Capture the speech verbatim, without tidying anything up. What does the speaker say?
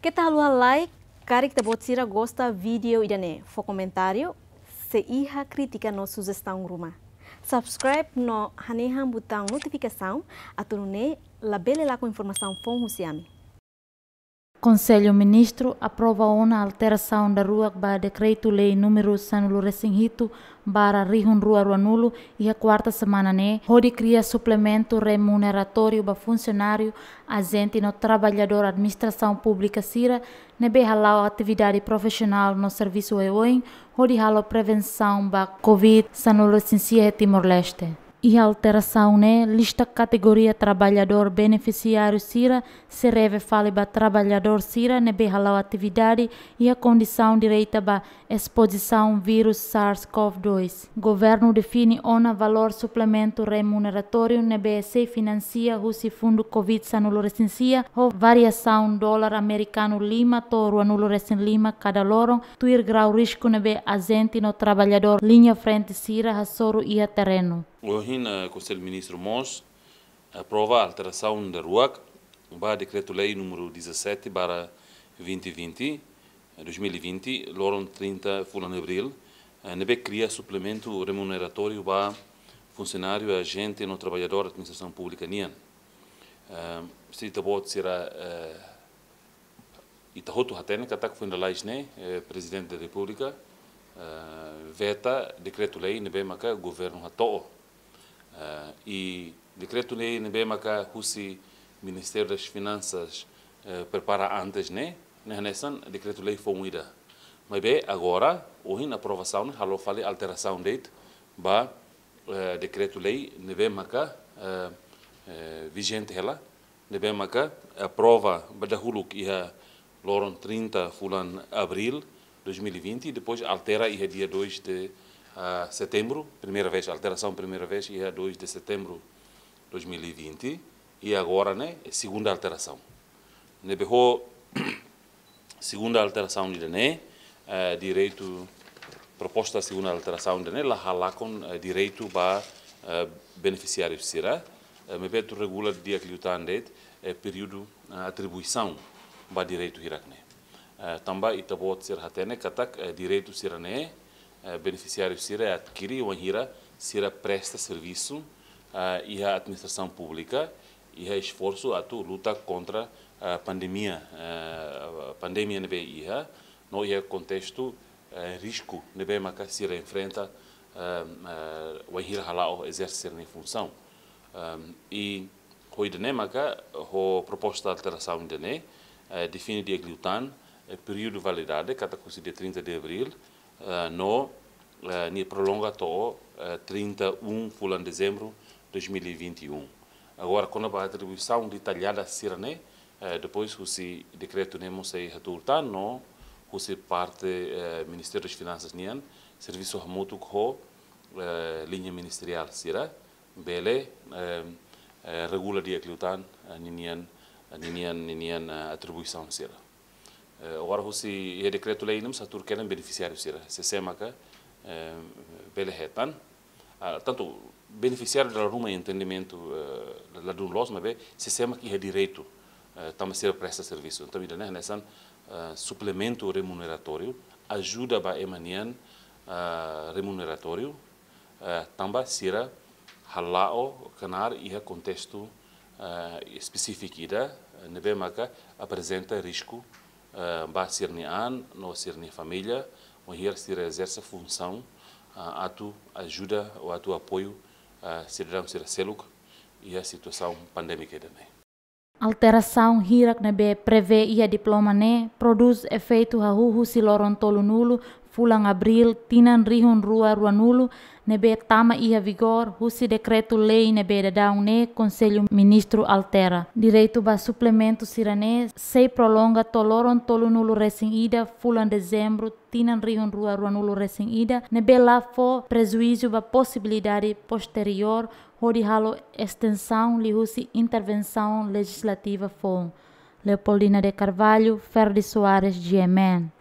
Keta haluha like, karik ita-boot sira gosta vídeo ida-ne'e, fó komentáriu, se iha krítika no sujestaun ruma. Subscribe no hanehan butaun notifikasaun, atu nune'e labele lakon informasaun foun husi ami. Konsellu Ministru aprova ona alterasaun daruak ba Dekretu-Lei númeru sanulu-resin-hitu barra rihun rua ruanulu iha kuarta semana ne'e, hodi kria suplementu remuneratóriu ba funsionáriu, ajente no traballadór administrasaun públika sira ne'ebé hala'o atividade profisionál no servisu oioin, hodi halo prevensaun ba Covid sanulu-resin-sia iha Timor-Leste. Iha alterasaun ne'e, lista kategoria traballadór benefisiáriu sira sei revee fali ba traballadór sira ne'ebé hala'o atividade iha kondisaun direta ba espozisaun vírus SARS-CoV dois. Governu define ona valór suplementu remuneratóriu ne'ebé sei finansia husi fundu Covid sanulu-resin-sia, ho variasaun dolar amerikanu lima to'o ruanulu-resin-lima kada loron, tuir grau risku ne'ebé ajente no traballadór liña frente sira hasoru iha terrenu. Ohin, eh, Konsellu Ministru mós aprova alterasaun daruak ba Dekretu-Lei númeru dezassete barra vinte vinte, dois mil e vinte, loron trinta fulan Abríl, eh, ne'ebé kria suplementu remuneratóriu ba funsionáriu, ajente no traballadór administrasaun públika nian. Eh, se ita-boot sira, eh, ita hotu hatene katak foin lalais ne'e, eh, Prezidente da Repúblika, eh, veta dekretu-lei ne'ebé maka governu hato'o. Eh, i dekretu-lei ne'ebé maka husi Ministériu das Finansas, eh, prepara antes ne'e, ne'e hanesan dekretu-lei foun ida. Maibé agora, ohin aprovasaun ne'e halo fali alterasaun de'it ba, eh, dekretu-lei ne'ebé maka, eh, eh, vijente hela, ne'ebé maka aprova ba dahuluk iha loron trinta fulan Abríl dois mil e vinte, depois altera iha dia dois de, ah, setembru, primeira vez, alterasaun primeira vez iha dois de setembro dois mil e vinte, i agora ne'e segunda alterasaun. Ne'ebé ho segunda alterasaun ida-ne'e, eh, direitu, proposta segunda alterasaun ida-ne'e la halakon, eh, direitu ba, eh, benefisiáriu sira, eh, maibé atu regula di'ak liután de'it, eh, períodu, eh, atribuisaun ba direitu hirak-ne'e. Eh, tanba ita-boot sira hatene katak, eh, direitu sira-ne'e, eh, benefisiáriu sira adkiri wainhira sira presta servisu, eh, iha administrasaun públika, iha esforsu atu luta kontra, eh, pandemia, eh, pandemia ne'ebé iha, no iha kontestu, eh, risku ne'ebé maka sira enfrenta, eh, eh, wainhira hala'o ezerse sira-nia funsaun. Ehm, i ho ida-ne'e maka, ho proposta alterasaun ida-ne'e, eh, define di'ak liután, eh, períodu validade, katak husi dia trinta de Abríl, eh, no, eh, nia prolonga to'o, eh, trinta e um fulan Dezembru dois mil e vinte e um. Agora, kona-ba atribuisaun detallada sira-ne'e, eh, depois husi dekretu ne'e mós sei hatuur tan no husi parte, eh, Ministériu das Finansas nian, servisu hamutuk ho, eh, liña ministeriál sira, bele, eh, eh, regula di'ak liután, eh, ninian, ninian, ninian, eh, atribuisaun sira. Eh, agora husi iha dekretu-lei ne'e mós hatuur kedan benefisiáriu sira, sé-sé maka, eh, bele hetan. Ah, tantu benefisiáriu dala ruma entendimentu, eh, ladún loos, maibé sé-sé maka iha direitu, eh, tanba sira presta servisu. Entaun, ida-ne'e hanesan, eh, suplementu remuneratóriu, ajuda ba ema nian, eh, remuneratóriu, eh, tanba sira hala'o knaar iha kontestu, eh, espesífiku ida, eh, ne'ebé maka aprezenta risku, eh, ba sira-nia an no sira-nia família, wainhira sira ezerse funsaun, eh, atu ajuda ou atu apoiu, eh, sidadaun sira seluk iha situasaun pandémika ida-ne'e. Alterasaun hirak ne'ebé prevee iha diploma ne'e prodús efeitu hahú husi loron tolunulu fulan Abríl tinan rihun rua ruanulu, ne'ebé tama iha vigór husi dekretu-lei ne'ebé daudaun ne'e Konsellu Ministru altera. Direitu ba suplementu sira-ne'e sei prolonga to'o loron tolunulu-resin-ida fulan Dezembru tinan rihun rua ruanulu-resin-ida, ne'ebé la fó prejuízu ba posibilidade posteriór hodi halo estensaun liuhusi intervensaun lejizlativa foun. Leopoldina de Carvalho, Ferdi Soares, G M N.